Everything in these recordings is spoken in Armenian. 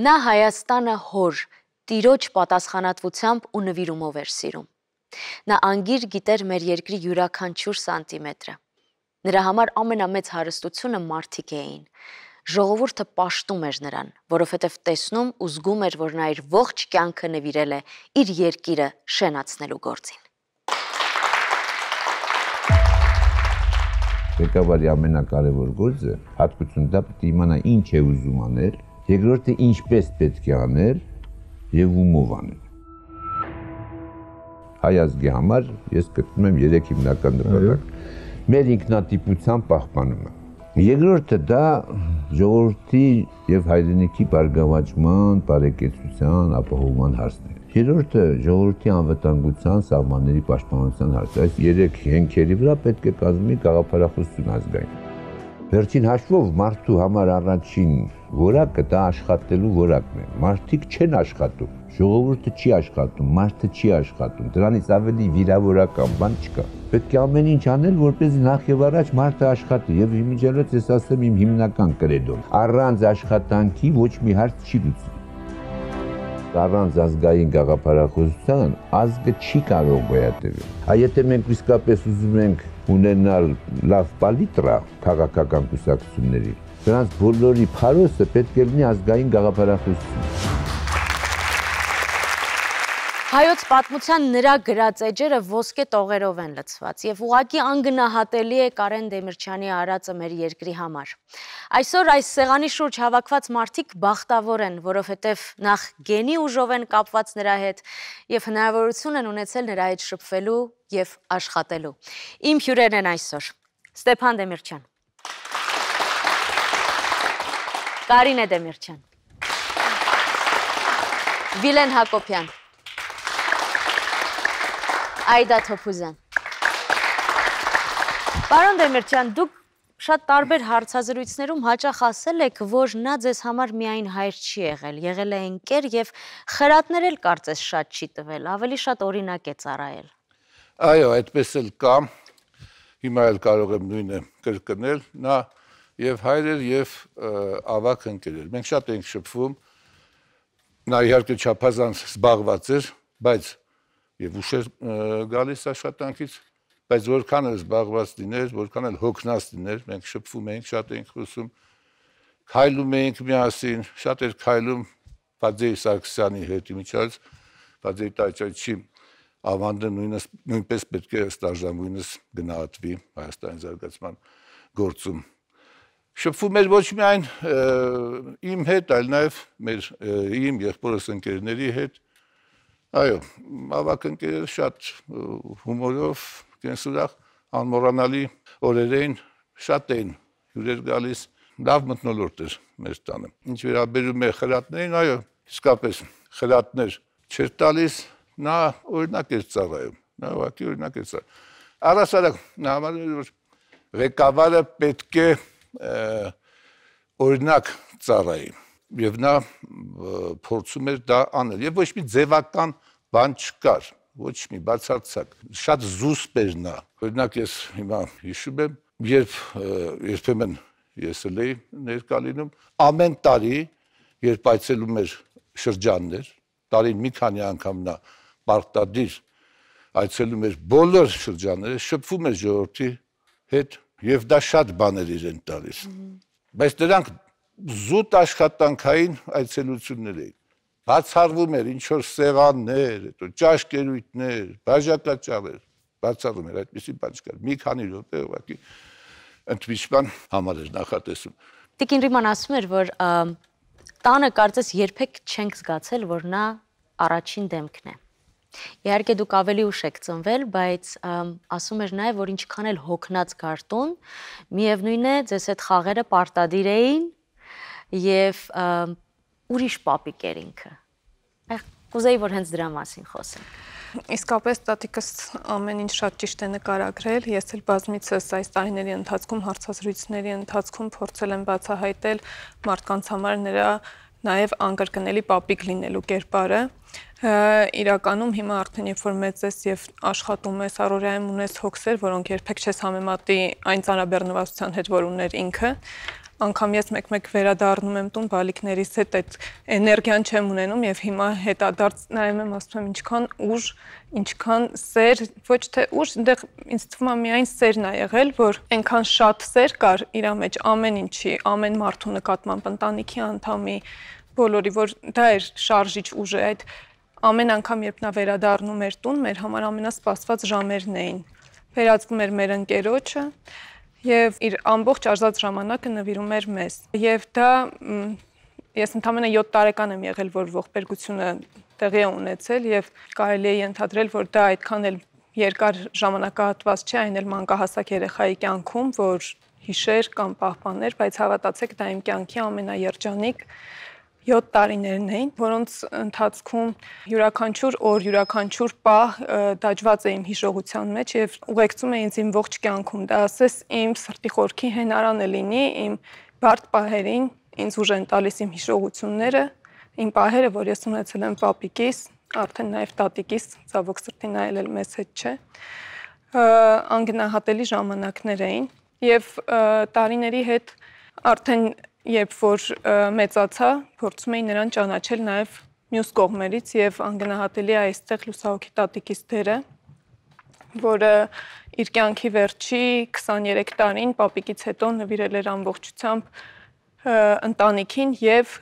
Նա Հայաստանը հոր, տիրոջ պատասխանատվությամբ ու նվիրումով էր սիրում։ Նա անգիր գիտեր մեր երկրի յուրաքանչյուր սանտիմետրը։ Նրա համար ամենամեծ հարստությունը մարդիկ էին։ Ժողովուրդը պաշտում էր նրան, որովհետև տեսնում ու զգում էր, որ նա իր ողջ կյանքը նվիրել է իր երկիրը շենացնելու գործին։ Ղեկավարի ամենակարևոր գործը հատկություն դա պետք է իմանա ինչ է ուզում անել, երկրորդը ինչպես պետք է անել եւ ումով անել։ Հայ ազգի համար ես գտնում եմ 3 հիմնական նպատակ։ Մեր ինքնատիպության պահպանումը։ Երկրորդը դա ժողովրդի եւ հայրենիքի բարգավաճման, բարեկեցության, ապահովման հարցն է։ Երրորդը ժողովրդի անվտանգության, սահմանների պաշտպանության հարցը։ Այս 3 հենքերի վրա պետք է կազմի գաղափարախոսություն ազգային։ Վերջին հաշվով մարդու համար առաջին որակը դա աշխատելու որակն է։ Մարդիկ չեն աշխատում, ժողովուրդը չի աշխատում, մարդը չի աշխատում։ Դրանից ավելի վիրավորական բան չկա։ Պետք է ամեն ինչ անել, որպեսզի նախ եւ առաջ մարդը աշխատի։ Եվ իմիջիալից ես ասեմ իմ հիմնական կրեդոն։ Առանց աշխատանքի ոչ մի հարց չի լուծվի։ Առանց ազգային գաղափարախոսության ազգը չի կարող գոյատևել։ Եթե մենք իսկապես ուզում ենք ունենալ լավ պալիտրա քաղաքական կուսակցությունների, դրանց բոլորի փարոսը պետք է լինի ազգային գաղափարախոսություն։ Հայոց պատմության նրա գրած էջերը ոսկե տողերով են լցված եւ ուղղակի անգնահատելի է Կարեն Դեմիրճյանի արածը մեր երկրի համար։ Այսօր այս սեղանի շուրջ հավաքված մարդիկ բախտավոր են, որովհետեւ նախ գենի ուժով են կապված նրա հետ եւ հնարավորություն են ունեցել նրա հետ շփվելու եւ աշխատելու։ Իմ հյուրերն են այսօր Ստեփան Դեմիրճյան, Կարինե Դեմիրճյան, Վիլեն Հակոբյան, Այդա Թոփուզյան։ Պարոն Դեմիրճյան, դուք շատ տարբեր հարցազրույցներում հաճախ ասել եք, որ նա ձեզ համար միայն հայր չի եղել, եղել է ընկեր եւ խրատներ էլ կարծես շատ չի տվել, ավելի շատ օրինակ է ծառայել։ Այո, այդպես էլ կա։ Հիմա էլ կարող եմ նույնը կրկնել, նա եւ հայր էր եւ ավակ ընկեր էր։ Մենք շատ ենք շփվում։ Նա իհարկե չափազանց զբաղված էր, բայց եւ ուշ էր գալիս աշխատանքից, բայց որքան էլ զբաղված լիներ, որքան էլ հոգնած լիներ, մենք շփվում էինք, շատ էինք խոսում, քայլում էինք միասին, շատ էր քայլում Ֆադեյ Սարգսյանի հետ, իմիջիալից Ֆադեյ Տաճաչի ավանդը նույնպես պետք է ստաժամույնս գնահատվի Հայաստանի զարգացման գործում։ Շփվում էր ոչ միայն իմ հետ, այլ նաեւ իմ եղբորս ընկերների հետ։ Այո, ավակ ընկերերը շատ հումորով, կենսուրախ, անմոռանալի օրեր էին, շատ էին հյուրեր գալիս, լավ մթնոլորտ էր մեր տանը։ Ինչ վերաբերում է խրատներին, այո, իսկապես խրատներ չէր տալիս, նա օրինակ էր ծառայում, նա ուղղակի օրինակ էր ծառայում։ Առասարակ նա համարում էր, որ ղեկավարը պետք է օրինակ ծառայի։ Եվ նա փորձում էր դա անել, եւ ոչ մի ձևական բան չկար, ոչ մի բացարձակ, շատ զուսպ էր նա։ Օրինակ ես հիմա հիշում եմ, երբեմն ես էլ էի ներկա լինում, ամեն տարի, երբ այցելում էր շրջաններ, տարին մի քանի անգամ նա պարտադիր այցելում էր բոլոր շրջանները, շփվում էր ժողովրդի հետ եւ դա շատ բաներ իրեն տալիս։ Բայց դրանք զուտ աշխատանքային այցելություններ էին։ Բացառվում էր ինչ-որ սեղաններ, ճաշկերույթներ, բաժակաճառեր, բացառվում էր այդպիսի բան չկար։ Մի քանի րոպե ուղղակի ընդմիջման համար էր նախատեսում։ Տիկին Ռիման ասում էր, որ տանը կարծես երբեք չենք զգացել, որ նա առաջին դեմքն է։ Իհարկե դուք ավելի ուշ եք ծնվել, բայց ասում էր նաև, որ ինչքան էլ հոգնած գարտուն, միևնույն է, ձեզ հետ խաղերը պարտադիր էին եւ ուրիշ պապիկ էր ինքը։ Կուզեի, որ հենց դրա մասին խոսենք։ Իսկապես տատիկս ամեն ինչ շատ ճիշտ է նկարագրել, ես էլ բազմիցս այս տարիների ընթացքում հարցազրույցների ընթացքում փորձել եմ բացահայտել մարդկանց համար նրա նաև անկրկնելի պապիկ լինելու կերպարը։ Իրականում հիմա արդեն երբ որ մեծ ես եւ աշխատում ես, առօրյայում ունես հոգսեր, որոնք երբեք չես համեմատի այն ծանրաբեռնվածության հետ, որ ուներ ինքը, անգամ ես մեկ-մեկ վերադառնում եմ տուն բալիկներիս հետ, այդ էներգիան չեմ ունենում եւ հիմա հետադարձ նայում եմ, ասում եմ ինչքան ուժ, ինչքան սեր, ոչ թե ուժ, այնտեղ ինձ թվում է միայն սերն է եղել, որ այնքան շատ սեր կար իր մեջ ամեն ինչի, ամեն մարդու նկատմամբ, ընտանիքի անդամի, բոլորի, որ դա էր շարժիչ ուժը, այդ ամեն անգամ երբ նա վերադառնում էր տուն, մեր համար ամենասպասված ժամերն էին։ Վերածվում էր մեր ընկերոջը եւ իր ամբողջ արժած ժամանակը նվիրում էր մեզ։ Եվ դա ես ընդամենը 7 տարեկան եմ եղել, որ ողբերգությունը տեղի է ունեցել եւ կարելի է ենթադրել, որ դա այդքան էլ երկար ժամանակահատված չէ, այն էլ մանկահասակ երեխայի կյանքում, որ հիշեր կամ պահպաներ, բայց հավատացեք, դա իմ կյանքի ամենաերջանիկ 7 տարիներն էին, որոնց ընթացքում յուրաքանչյուր օր, յուրաքանչյուր պահ դաջված է իմ հիշողության մեջ եւ ուղեկցում է ինձ իմ ողջ կյանքում։ Դա ասես իմ սրտի խորքի հենարանը լինի, իմ բարդ պահերին ինձ ուժ են տալիս իմ հիշողությունները, իմ պահերը, որ ես ունեցել եմ պապիկիս, արդեն նաեւ տատիկիս, ցավոք սրտի նայել էլ մեզ հետ չէ, անգնահատելի ժամանակներ էին եւ տարիների հետ արդեն երբ որ մեծացա, փորձում էի նրան ճանաչել նաև մյուս կողմերից եւ անգնահատելի է այստեղ լուսահոգի տատիկիս դերը, որը իր կյանքի վերջի 23 տարին պապիկից հետո նվիրել էր ամբողջությամբ ընտանիքին եւ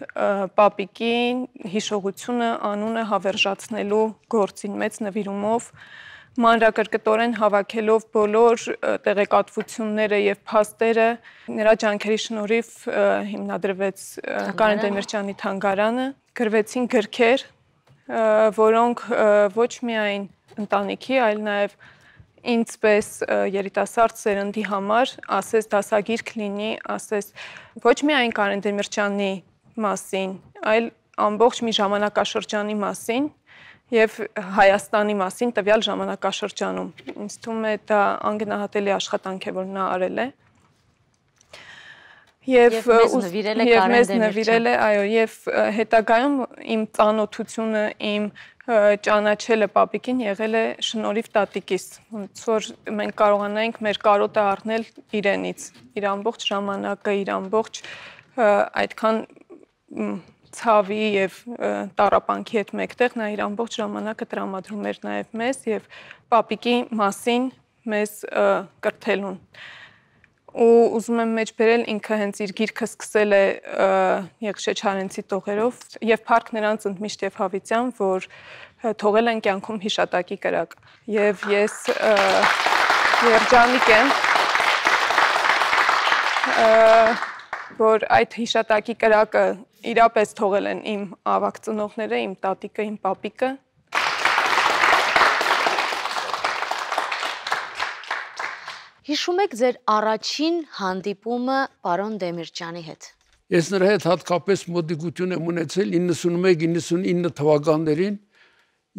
պապիկին հիշողությունը, անունը հավերժացնելու գործին մեծ նվիրումով մանրակրկտորեն հավաքելով բոլոր տեղեկատվությունները եւ փաստերը նրա ջանքերի շնորհիվ հիմնադրվեց Կարեն Դեմիրճյանի թանգարանը, գրվեցին գրքեր, որոնք ոչ միայն ընտանիքի, այլ նաեւ ինձպես երիտասարդ սերնդի համար ասես դասագիրք լինի, ասես ոչ միայն Կարեն Դեմիրճյանի մասին, այլ ամբողջ մի ժամանակաշրջանի մասին եւ Հայաստանի մասին տվյալ ժամանակաշրջանում։ Ինձ թվում է դա անգնահատելի աշխատանք է, որ նա արել է։ Եվ մեզ նվիրել է, այո, եւ հետագայում իմ ծանոթությունը, իմ ճանաչելը պապիկին եղել է շնորհիվ տատիկիս, ոնց որ մենք կարողանայինք մեր կարոտը առնել իրենից, իր ամբողջ ժամանակը, իր ամբողջ այդքան ցավի եւ տառապանքի հետ մեկտեղ նա իր ամբողջ ժամանակը տրամադրում էր նաեւ մեզ եւ պապիկի մասին մեզ կրթելուն։ Ու ուզում եմ մեջ բերել ինքը հենց իր գիրքը սկսել է Եղիշե Չարենցի տողերով եւ փառք նրանց ընդմիշտ եւ հավիտյան, որ թողել են կյանքում հիշատակի կրակ եւ ես երջանիկ եմ որ այդ հիշատակի կրակը իրապես թողել են իմ ավակ ծնողները, իմ տատիկը, իմ պապիկը։ Հիշում եք ձեր առաջին հանդիպումը պարոն Դեմիրճյանի հետ։ Ես նրա հետ հատկապես մոտիկություն եմ ունեցել 91-99 թվականներին,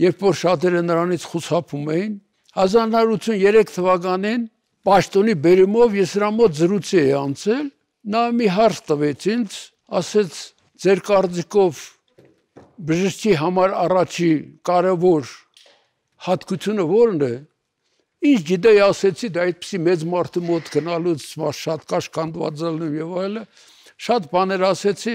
երբ որ շատերը նրանից խուսափում էին, 1983 թվականին պաշտոնի բերումով ես նրա մոտ զրույցի էի անցել, նա մի հարց տվեց ինձ, ասեց ձեր կարծիքով բժշկի համար առաջի կարևոր հատկությունը ո՞րն է։ Ինչ գիտեի, ասեցի, դա այդպիսի մեծ մարդու մոտ գնալուց շատ կաշկանդված ելնում եւ այլը, շատ բաներ ասեցի,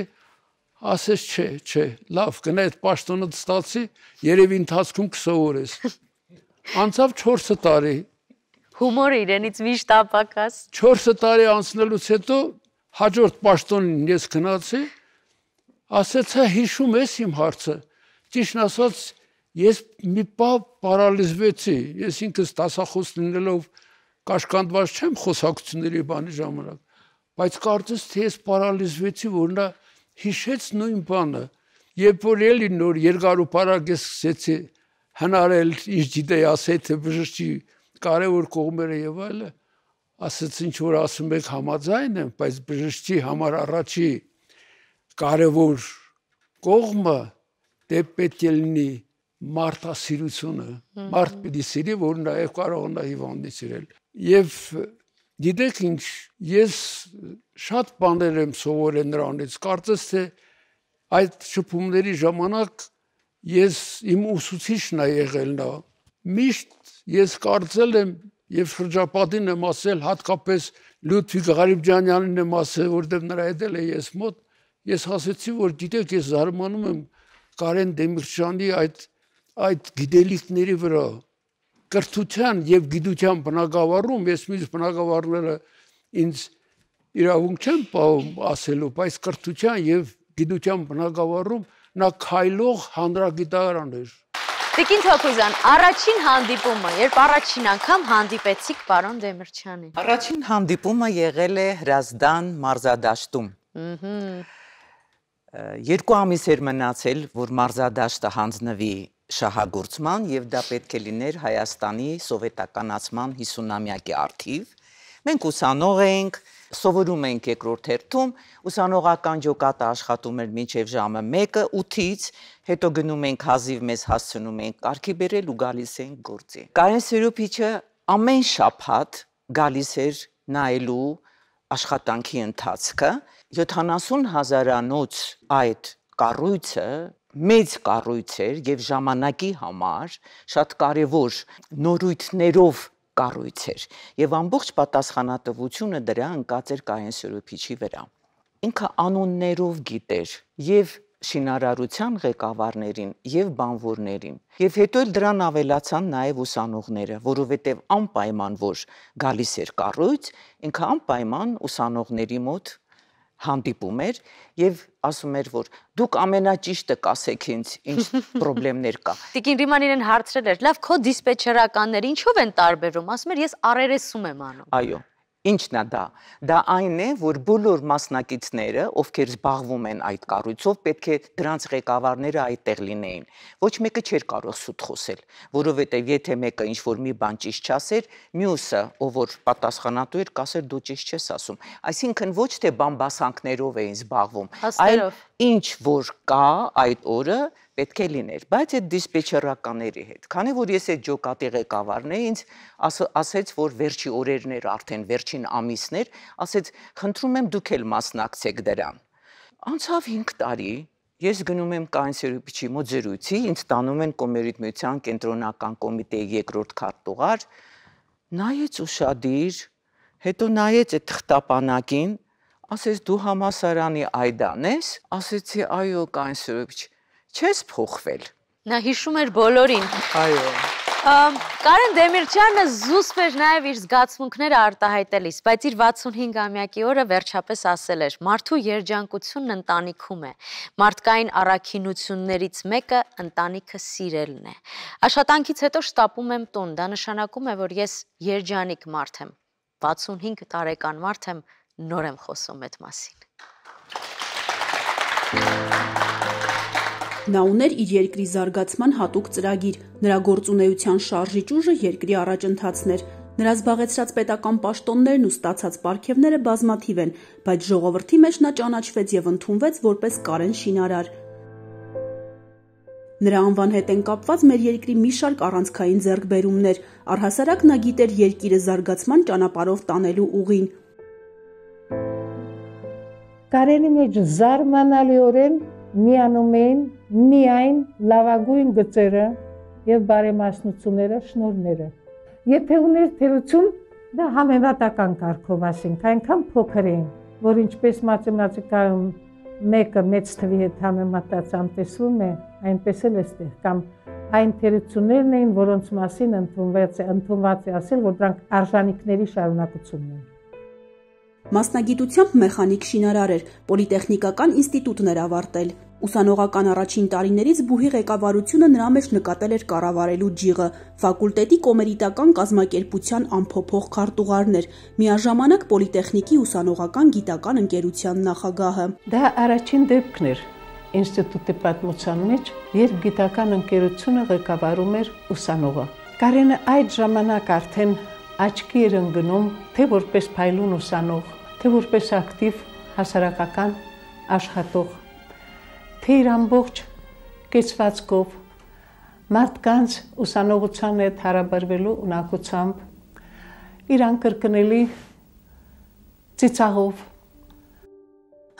ասեց չէ, լավ, գնա այդ պաշտոնը ստացի, երևի ընթացքում կսովորես։ Անցավ 4 տարի։ Հումորը իրենից միշտ ապակաս։ 4 տարի անցնելուց հետո հաջորդ պաշտոնին ես գնացի, ասեցա հիշում ես իմ հարցը։ Ճիշտն ասած, ես մի պահ պարալիզվեցի, ես ինքս դասախոս լինելով կաշկանդված չեմ խոսակցությունների բանի ժամանակ, բայց կարծես թե ես պարալիզվեցի, որ նա հիշեց նույն բանը, երբ որ էլի նոր երկար ու բարակ ես սկսեցի հնարել, ինչ գիտեի ասել, թե բժշկի կարևոր կողմերը եւ այլը, ասեց ինչ որ ասում եք համաձայն եմ, բայց բժշկի համար առաջի կարևոր կողմը դե պետք է լինի մարդասիրությունը, մարդ պիտի սիրի, որ նաև կարողանա հիվանդի սիրել։ Եվ գիտեք ինչ, ես շատ բաներ եմ սովորել նրանից, կարծես թե այդ շփումների ժամանակ ես իմ ուսուցիչն է եղել նա։ Միշտ ես կարծել եմ եւ շրջապատին եմ ասել, հատկապես Լյուդվիգ Ղարիբջանյանին եմ ասել, որտեղ նրա հետ էլ է ես մոտ, ես ասեցի, որ գիտեք, ես զարմանում եմ Կարեն Դեմիրճյանի այդ գիտելիքների վրա կրթության եւ գիտության բնագավառում, ես մյուս բնագավառները ինձ իրավունք չեմ պահում ասելու, բայց կրթության եւ գիտության բնագավառում նա քայլող հանրագիտարան էր։ Տիկին Թոքուզյան, առաջին հանդիպումը, երբ առաջին անգամ հանդիպեցիք պարոն Դեմիրճյանին։ Առաջին հանդիպումը եղել է Հրազդան մարզադաշտում։ 2 ամիս էր մնացել, որ մարզադաշտը հանձնվի շահագործման եւ դա պետք է լիներ Հայաստանի սովետականացման 50-ամյակի առթիվ։ Մենք ուսանող էինք, սովորում էինք երկրորդ հերթում, ուսանողական ջոկատը աշխատում էր մինչև ժամը 1-ը 8-ից, հետո գնում ենք հազիվ մեզ հասցնում ենք կարգի բերել ու գալիս ենք գործի։ Կարեն Սերոբիչը ամեն շաբաթ գալիս էր նայելու աշխատանքի ընթացքը, 70,000-անոց այդ կառույցը մեծ կառույց էր եւ ժամանակի համար շատ կարեւոր նորույթներով կառույց էր եւ ամբողջ պատասխանատվությունը դրա ընկած էր Կարեն Սերոբիչի վրա։ Ինքը անուններով գիտեր եւ շինարարության ղեկավարներին եւ բանվորներին եւ հետո էլ դրան ավելացան նաեւ ուսանողները, որովհետեւ անպայման որ գալիս էր կառույց, ինքը անպայման ուսանողների մոտ հանդիպում էր եւ ասում էր, որ դուք ամենաճիշտը կասեք ինձ, ինչ խնդիրներ կա։ Տիկին Ռիման իրեն հարցրել էր, լավ, քո դիսպեչերականները ինչով են տարբերվում, ասում էր, ես առերեսում եմ անում։ Այո, ինչն է դա։ Դա այն է, որ բոլոր մասնակիցները, ովքեր զբաղվում են այդ կառույցով, պետք է դրանց ղեկավարները այդտեղ լինեին։ Ոչ մեկը չէր կարող սուտ խոսել, որովհետև եթե մեկը ինչ-որ մի բան ճիշտ չասեր, մյուսը, ով որ պատասխանատու էր, կասեր դու ճիշտ չես ասում։ Այսինքն ոչ թե բամբասանքներով էին զբաղվում, այլ ինչ որ կա այդ օրը պետք է լիներ, բայց այդ դիսպեչերականների հետ, քանի որ ես այդ ջոկատի ղեկավարն էի, ինձ ասեց, որ վերջի օրերն էր արդեն, վերջին ամիսներ, ասեց, խնդրում եմ դուք էլ մասնակցեք դրան։ Անցավ 5 տարի, ես գնում եմ Կարեն Սերոբիչի մոտ զրույցի, ինձ տանում են Կոմերիտ միության կենտրոնական կոմիտեի երկրորդ քարտուղար, նայեց ուշադիր, հետո նայեց այդ թղթապանակին, ասեց դու համասարանի Այդան ես, ասեցի այո Կարեն Սերոբիչ, չես փոխվել։ Նա հիշում էր բոլորին։ Այո։ Կարեն Դեմիրճյանը զուսպ էր նաև իր զգացմունքները արտահայտելիս, բայց իր 65-ամյակի օրը վերջապես ասել էր. մարդու երջանկությունն ընտանիքում է, մարդկային առաքինություններից մեկը ընտանիքը սիրելն է։ Աշխատանքից հետո շտապում եմ տուն, դա նշանակում է, որ ես երջանիկ մարդ եմ, 65 տարեկան մարդ եմ, նոր եմ խոսում այդ մասին։ Նա ուներ իր երկրի զարգացման հատուկ ծրագիր, նրա գործունեության շարժիչ ուժը երկրի առաջընթացն էր, նրա զբաղեցրած պետական պաշտոններն ու ստացած պարգևները բազմաթիվ են, բայց ժողովրդի մեջ նա ճանաչվեց եւ ընդունվեց որպես Կարեն շինարար։ Նրա անվան հետ են կապված մեր երկրի մի շարք առանցքային ձեռքբերումներ, առհասարակ նա գիտեր երկիրը զարգացման ճանապարհով տանելու ուղին։ Կարենի մեջ զարմանալիորեն միանում էին միայն լավագույն գծերը եւ բարեմասնությունները, շնորհները։ Եթե ուներ թերություն, դա համեմատական կարգով ասենք, այնքան փոքր էին, որ ինչպես մաթեմատիկայում մեկը մեծ թվի հետ համեմատած անտեսվում է, այնպես էլ էստեղ կամ այն թերություններն էին, որոնց մասին ընդունված է ասել, որ դրանք արժանինքների շարունակությունն են։ Մասնագիտությամբ մեխանիկ շինարար էր, պոլիտեխնիկական ինստիտուտն էր ավարտել։ Ուսանողական առաջին տարիներից բուհի ղեկավարությունը նրա մեջ նկատել էր կառավարելու ջիղը, ֆակուլտետի կոմերիտական կազմակերպության անփոփոխ քարտուղարն էր, միաժամանակ պոլիտեխնիկի ուսանողական գիտական ընկերության նախագահը։ Դա առաջին դեպքն էր ինստիտուտի պատմության մեջ, երբ գիտական ընկերությունը ղեկավարում էր ուսանողը։ Կարենը այդ ժամանակ արդեն աչքի էր ընկնում, թե որպես փայլուն ուսանող, թե որպես ակտիվ հասարակական աշխատող, թե իր ամբողջ կեցվածքով, մարդկանց ուսանողության հետ հարաբերվելու ունակությամբ, իր անկրկնելի ծիծաղով։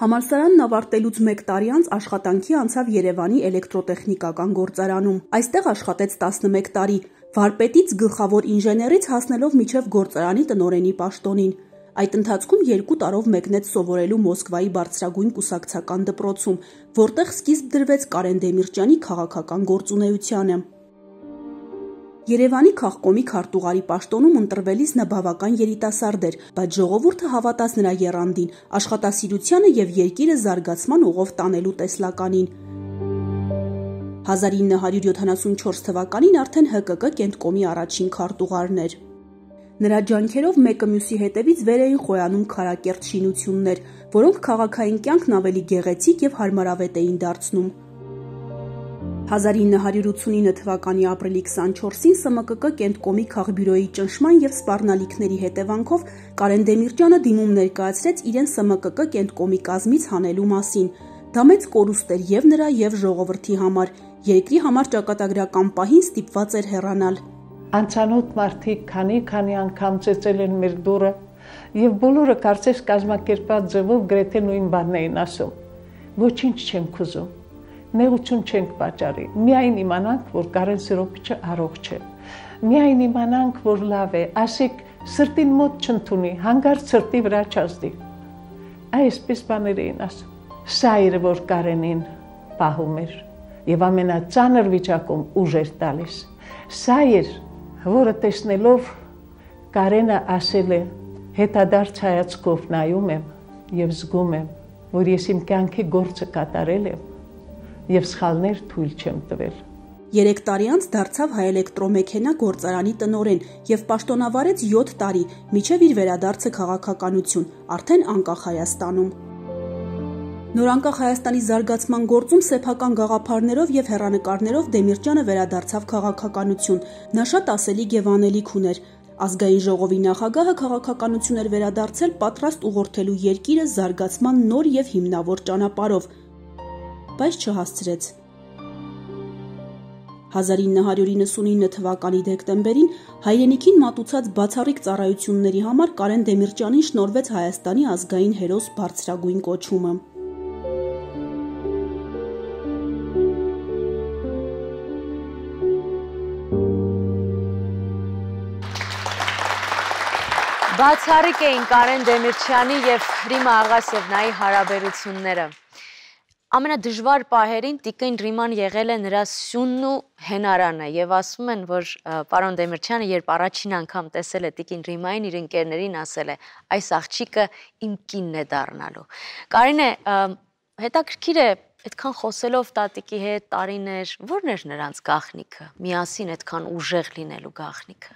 Համալսարանն ավարտելուց 1 տարի անց աշխատանքի անցավ Երևանի էլեկտրոտեխնիկական գործարանում։ Այստեղ աշխատեց 11 տարի, Վարպետից գլխավոր ինժեներից հասնելով մինչև գործարանի տնօրենի պաշտոնին։ Այդ ընթացքում 2 տարով մեկնեց սովորելու Մոսկվայի բարձրագույն կուսակցական դպրոցում, որտեղ սկիզբ դրվեց Կարեն Դեմիրճյանի քաղաքական գործունեությանը։ Երևանի քաղկոմի քարտուղարի պաշտոնում ընտրվելիս նա բավական երիտասարդ էր, բայց ժողովուրդը հավատաց նրա եռանդին, աշխատասիրությանը եւ երկիրը զարգացման ուղով տանելու տեսլականին։ 1974 թվականին արդեն ՀԿԿ կենտկոմի առաջին քարտուղարն էր։ Նրա ջանքերով մեկը մյուսի հետևից վեր էին խոյանում քարակերտ շինություններ, որոնք քաղաքային կյանքն ավելի գեղեցիկ եւ հարմարավետ էին դարձնում։ 1989 թվականի ապրիլի 24-ին ՍՄԿԿ կենտկոմի քաղբյուրոյի ճնշման եւ սպառնալիքների հետևանքով Կարեն Դեմիրճյանը դիմում ներկայացրեց իրեն ՍՄԿԿ կենտկոմի կազմից հանելու մասին։ Դա մեծ կորուստ էր եւ նրա եւ ժողովրդի համար։ Երկրի համար ճակատագրական պահին ստիպված էր հեռանալ։ Անցանոթ մարդիկ քանի անգամ ծեծել են մեր դուռը եւ բոլորը կարծես կազմակերպած ձևով գրեթե նույն բանն էին ասում։ Ոչինչ չենք ուզում, նեղություն չենք պատճառի, միայն իմանանք, որ Կարեն Սիրոպիչը առողջ է, միայն իմանանք, որ լավ է, ասեք սրտին մոտ չընդունի, հանգարց սրտի վրա չազդի։ Այսպես բաներ էին ասում։ Սա էր, որ Կարենին պահում էր եւ ամենածանր վիճակում ուժ էր տալիս։ Սա էր, որը տեսնելով Կարենը ասել է, հետադարձ հայացքով նայում եմ եւ զգում եմ, որ ես իմ կյանքի գործը կատարել եմ եւ սխալներ թույլ չեմ տվել։ 3 տարի անց դարձավ Հայէլեկտրոմեքենա գործարանի տնօրեն եւ պաշտոնավարեց 7 տարի, մինչեւ իր վերադարձը քաղաքականություն, արդեն անկախ Հայաստանում։ Նորանկախ Հայաստանի զարգացման գործում սեփական գաղափարներով եւ հեռանկարներով Դեմիրճյանը վերադարձավ քաղաքականություն։ Նա շատ ասելիք եւ անելիք ուներ։ Ազգային ժողովի նախագահը քաղաքականություն էր վերադարձել պատրաստ ուղղորդելու երկիրը զարգացման նոր եւ հիմնավոր ճանապարհով, բայց չհասցրեց։ 1999 թվականի դեկտեմբերին հայրենիքին մատուցած բացառիկ ծառայությունների համար Կարեն Դեմիրճյանին շնորհվեց Հայաստանի ազգային հերոս բարձրագույն կոչումը։ Բացառիկ էին Կարեն Դեմիրճյանի եւ Ռիմա Աղասևնայի հարաբերությունները։ Ամենադժվար պահերին տիկին Ռիման եղել է նրա սյունն ու հենարանը եւ ասում են, որ պարոն Դեմիրճյանը երբ առաջին անգամ տեսել է տիկին Ռիմային, իր ընկերներին ասել է. այս աղջիկը իմ կինն է դառնալու։ Կարինե, հետաքրքիր է, այդքան խոսելով տատիկի հետ տարիներ, ո՞րն էր նրանց գաղտնիքը, միասին այդքան ուժեղ լինելու գաղտնիքը։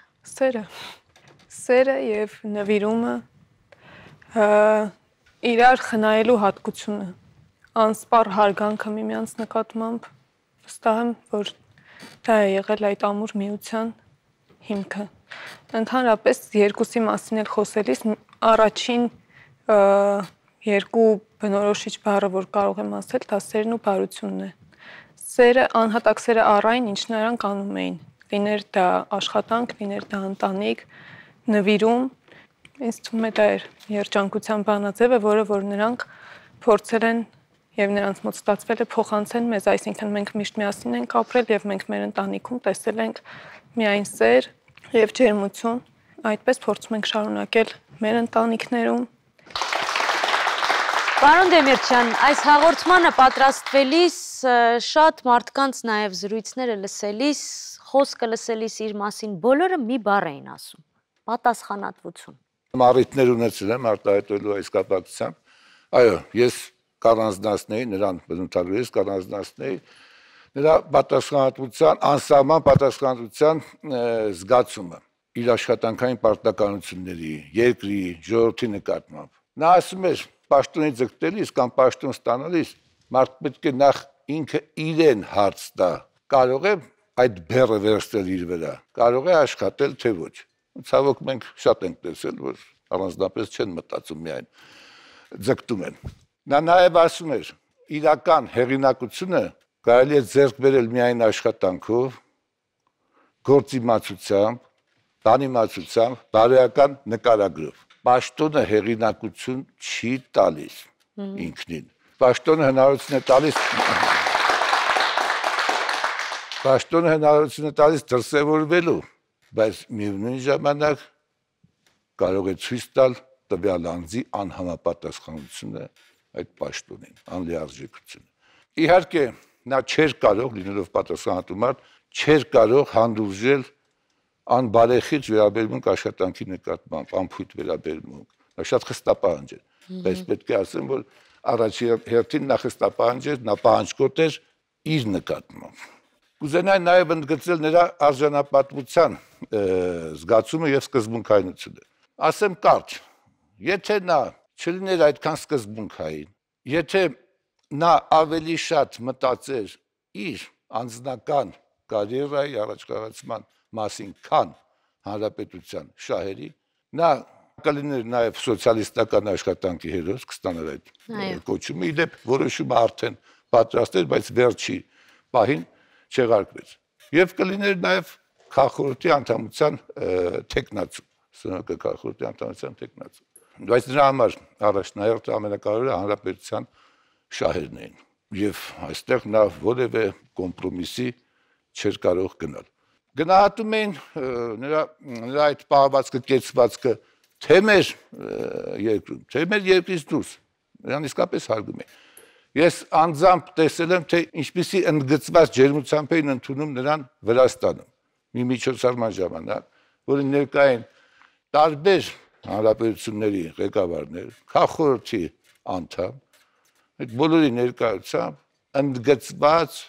Սերը եւ նվիրումը, իրար խնայելու հատկությունը, անսպառ հարգանքը միմյանց նկատմամբ, վստահ եմ, որ դա է եղել այդ ամուր միության հիմքը։ Ընդհանրապես երկուսի մասին էլ խոսելիս առաջին երկու բնորոշիչ բառը, որ կարող եմ ասել, դա սերն ու բարությունն է։ Սերը, անհատակ սերը առայն, ինչ նրանք անում էին, լիներ դա աշխատանք, լիներ դա ընտանիք, նվիրում, ինձ թվում է դա էր երջանկության բանաձևը, որը որ նրանք փորձել են եւ նրանց մոտ ստացվել է փոխանցեն մեզ, այսինքն մենք միշտ միասին ենք ապրել եւ մենք մեր ընտանիքում տեսել ենք միայն սեր եւ ջերմություն, այդպես փորձում ենք շարունակել մեր ընտանիքներում։ Պարոն Դեմիրճյան, այս հաղորդմանը պատրաստվելիս շատ մարդկանց նաեւ զրույցները լսելիս, խոսքը լսելիս իր մասին բոլորը մի բառ էին ասում. պատասխանատվություն։ Առիթներ ունեցել եմ արտահայտելու այս կապակցությամբ։ Այո, ես կառանձնացնեի նրան բնութագրելիս կառանձնացնեի նրա պատասխանատվության, անսահման պատասխանատվության զգացումը իր աշխատանքային պարտականությունների, երկրի, ժողովրդի նկատմամբ։ Նա ասում էր, պաշտոնի ձգտելիս կամ պաշտոն ստանալիս մարդ պետք է նախ ինքը իրեն հարց տա, կարող է այդ բեռը վերցնել իր վրա, կարող է աշխատել թե ոչ։ Ցավոք մենք շատ ենք տեսել, որ առանձնապես չեն մտածում միայն ձգտում են։ Նա նաև ասում էր, իրական հեղինակությունը կարելի է ձեռք բերել միայն աշխատանքով, գործիմացությամբ, բանիմացությամբ, բարոյական նկարագրով։ Պաշտոնը հեղինակություն չի տալիս ինքնին։ Պաշտոնը հնարավորություն է տալիս Պաշտոնը հնարավորություն է տալիս դրսևորվելու, բայց միևնույն ժամանակ կարող է ցույց տալ տվյալ անձի անհամապատասխանությունը այդ պաշտոնին, անլիարժեքությունը։ Իհարկե, նա չէր կարող, լինելով պատասխանատու մարդ, չէր կարող հանդուրժել անբարեխիղճ վերաբերմունք աշխատանքի նկատմամբ, անփույթ վերաբերմունք։ Նա շատ խստապահանջ էր, բայց պետք է ասեմ, որ առաջի հերթին նա խստապահանջ էր, նա պահանջկոտ էր իր նկատմամբ։ Կուզենայի նաև ընդգծել նրա արժանապատվության զգացումը եւ սկզբունքայնությունը։ Ասեմ կարճ, եթե նա չլիներ այդքան սկզբունքային, եթե նա ավելի շատ մտածեր իր անձնական կարիերայի առաջխաղացման մասին, քան հանրապետության շահերի, նա կլիներ նաև սոցիալիստական աշխատանքի հերոս, կստանար այդ կոչումը, իդեպ որոշումը արդեն պատրաստ էր, բայց վերջի պահին չեղարկվեց։ Եվ կլիներ նաև քաղաքորոթի անդամության թեկնածու, սնորհակը քաղաքորոթի անդամության թեկնածու։ Բայց նրա համար առաջնահերթը ամենակարևորը հանրապետության շահերն էին։ Եվ այստեղ նա որևէ կոմպրոմիսի չէր կարող գնալ։ Գնահատում էին նրա այդ պահվածքը, կեցվածքը թե մեր երկրում, թե մեր երկրից դուրս, նրան իսկապես հարգում էին։ Ես անձամբ տեսել եմ, թե ինչպիսի ընդգծված ջերմությամբ էին ընդունում նրան Վրաստանում, մի միջոցառման ժամանակ, որին ներկա էին տարբեր հանրապետությունների ղեկավարներ, քաղաքորոթի անդամ, այդ բոլորի ներկայությամբ ընդգծված,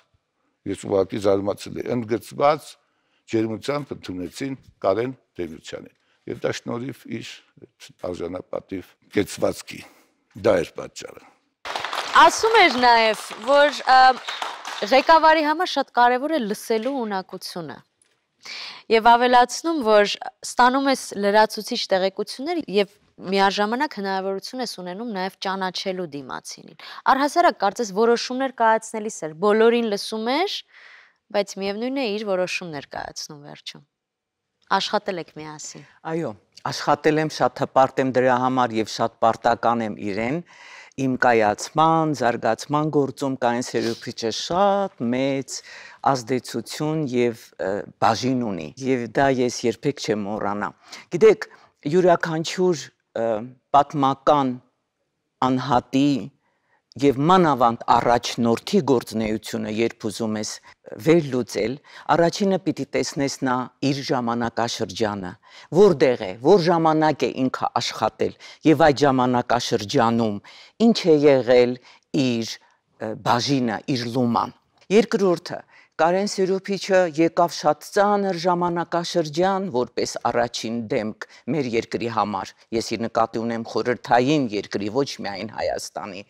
ես ուղղակի զարմացել եմ, ընդգծված ջերմությամբ ընդունեցին Կարեն Տեր-Պետրոսյանին։ Եվ դա շնորհիվ իր արժանապատիվ կեցվածքի։ Դա էր պատճառը։ Ասում էր նաև, որ ղեկավարի համար շատ կարևոր է լսելու ունակությունը։ Եվ ավելացնում, որ ստանում ես լրացուցիչ տեղեկություններ եւ միաժամանակ հնարավորություն ես ունենում նաև ճանաչելու դիմացինին։ Առհասարակ կարծես որոշումներ կայացնելիս էր, բոլորին լսում էր, բայց միևնույն է իր որոշումներ կայացնում վերջում։ Աշխատել եք միասին։ Այո, աշխատել եմ, շատ հպարտ եմ դրա համար եւ շատ պարտական եմ իրեն։ Իմ կայացման, զարգացման գործում Կարեն Սերոբիչը շատ մեծ ազդեցություն եւ բաժին ունի եւ դա ես երբեք չեմ մոռանա։ Գիտեք, յուրաքանչյուր պատմական անհատի եւ մանավանդ առաջնորդի գործունեությունը, երբ ուզում ես վերլուծել, առաջինը պիտի տեսնես նա իր ժամանակաշրջանը, որտեղ է, որ ժամանակ է ինքը աշխատել եւ այդ ժամանակաշրջանում ինչ է եղել իր բաժինը, իր լուման։ Երկրորդը, Կարեն Սերոբիչը եկավ շատ ծանր ժամանակաշրջան, որպես առաջին դեմք մեր երկրի համար, ես իր նկատի ունեմ խորհրդային երկրի, ոչ միայն Հայաստանի,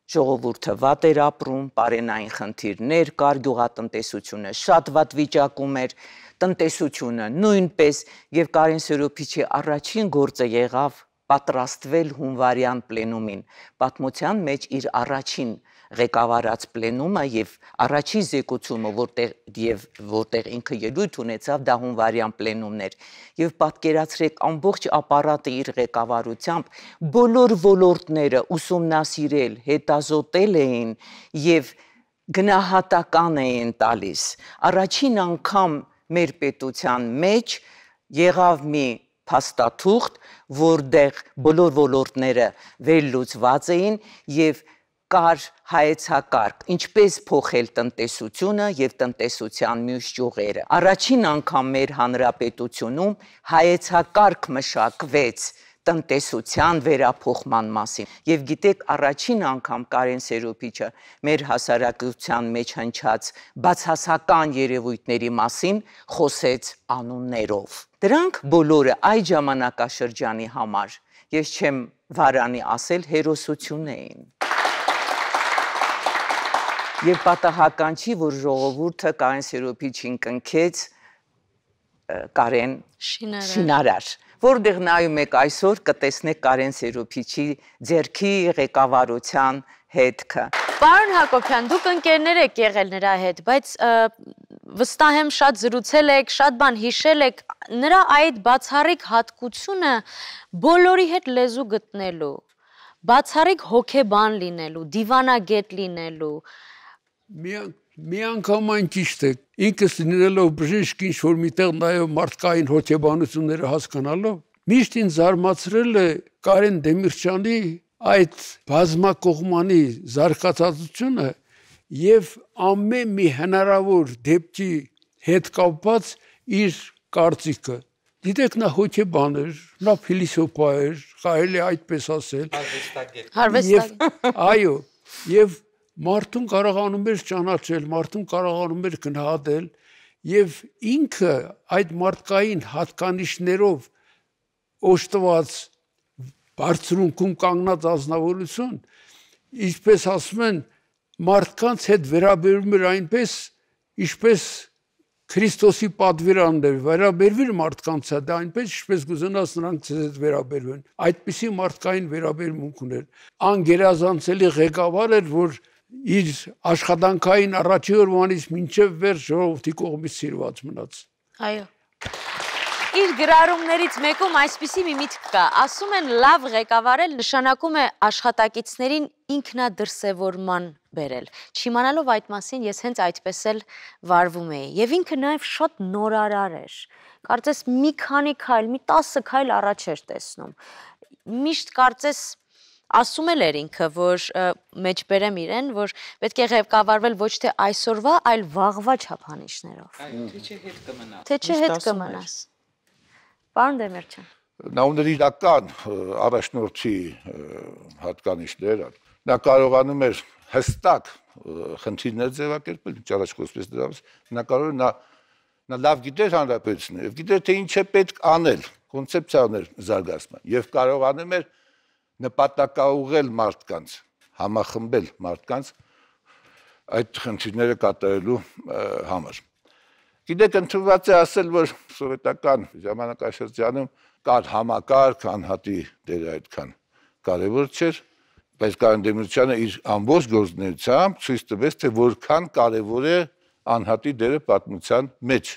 ժողովուրդը վատ էր ապրում, պարենային խնդիրներ կար, գյուղատնտեսությունը շատ վատ վիճակում էր, տնտեսությունը նույնպես, եւ Կարեն Սերոբիչի առաջին գործը եղավ պատրաստվել հունվարյան պլենումին, պատմության մեջ իր առաջին ղեկավարած պլենումը եւ առաջի զեկուցումը, որտեղ ինքը ելույթ ունեցավ, դա հունվարյան պլենումն էր, եւ պատկերացրեք ամբողջ ապարատը իր ղեկավարությամբ բոլոր ոլորտները ուսումնասիրել, հետազոտել էին եւ գնահատական էին տալիս։ Առաջին անգամ մեր պետության մեջ եղավ մի փաստաթուղթ, որտեղ բոլոր ոլորտները վերլուծված էին եւ կար հայեցակարգ, ինչպես փոխել տնտեսությունը եւ տնտեսության մյուս ճյուղերը։ Առաջին անգամ մեր հանրապետությունում հայեցակարգ մշակվեց տնտեսության վերափոխման մասին։ Եվ գիտեք, առաջին անգամ Կարեն Սերոբիչը մեր հասարակության մեջ հնչած բացասական երևույթների մասին խոսեց անուններով։ Դրանք բոլորը այդ ժամանակաշրջանի համար, ես չեմ վարանի ասել, հերոսություն էին։ Եվ պատահական չի, որ ժողովուրդը Կարեն Սերոբիչին կնքեց Կարեն Շինարար, որտեղ նայում եք այսօր կտեսնեք Կարեն Սերոբիչի ձեռքի ղեկավարության հետքը։ Պարոն Հակոբյան, դուք ընկերներ եք եղել նրա հետ, բայց վստահ եմ շատ զրուցել եք, շատ բան հիշել եք, նրա այդ բացառիկ հատկությունը բոլորի հետ լեզու գտնելու, բացառիկ հոգեբան լինելու, դիվանագետ լինելու։ Միան մի անգամ այն ճիշտ է, ինքս լինելով բժիշկ ինչ-որ միտեղ նայով մարդկային հոգեբանությունները հասկանալով, միշտ ինձ զարմացրել է Կարեն Դեմիրճյանի այդ բազմակողմանի զարգացածությունը եւ ամեն մի հնարավոր դեպքի հետ կապված իր կարծիքը։ Գիտեք, նա հոգեբան էր, նա փիլիսոփա էր, կարելի այդպես ասել։ Հարվեստագետ։ Այո, եւ մարդուն կարողանում էր ճանաչել, մարդուն կարողանում էր գնահատել եւ ինքը այդ մարդկային հատկանիշներով օժտված բարձրունքում կանգնած ազնվորություն, ինչպես ասում են, մարդկանց հետ վերաբերում էր այնպես, ինչպես Քրիստոսի պատվիրանն էր, վերաբերվիր մարդկանց հետ, այնպես ինչպես կուզենաս նրանք ձեզ հետ վերաբերվեն։ Այդպիսի մարդկային վերաբերմունք ուներ։ Անգերազանցելի ղեկավար էր, որ իր աշխատանքային առաջի օրվանից մինչև վերջ ժողովրդի կողմից սիրված մնաց։ Այո։ Իր գրառումներից մեկում այսպիսի մի միտք կա, ասում են լավ ղեկավարել նշանակում է աշխատակիցներին ինքնադրսևորման բերել։ Չիմանալով այդ մասին ես հենց այդպես էլ վարվում էի եւ ինքը նաեւ շատ նորարար էր։ Կարծես մի քանի քայլ, մի 10 քայլ առաջ էր տեսնում։ Միշտ կարծես ասում էր ինքը, որ մեջբերեմ իրեն, որ պետք է ղեկավարվել ոչ թե այսօրվա, այլ վաղվա չափանիշներով։ Թե չէ հետ կմնաս։ Թե չէ հետ կմնաս։ Պարոն Դեմիրճյան։ Նա ուներ իրական առաջնորդի հատկանիշներ, նա կարողանում էր հստակ խնդիրներ ձևակերպել, ինչ առաջ խոսվեց դրանից, նա կարող է նա լավ գիտեր հանրապետությունը, եւ գիտեր թե ինչ է պետք անել, կոնցեպցիա ուներ զարգացման, եւ կարողանում էր նպատակաուղղել մարդկանց, համախմբել մարդկանց այդ խնդիրները կատարելու համար։ Գիտեք, ընդունված է ասել, որ սովետական ժամանակաշրջանում կար համակարգ, անհատի դերը այդքան կարևոր չէր, բայց Կարեն Դեմիրճյանը իր ամբողջ գործունեությամբ ցույց տվեց, թե որքան կարևոր է անհատի դերը պատմության մեջ։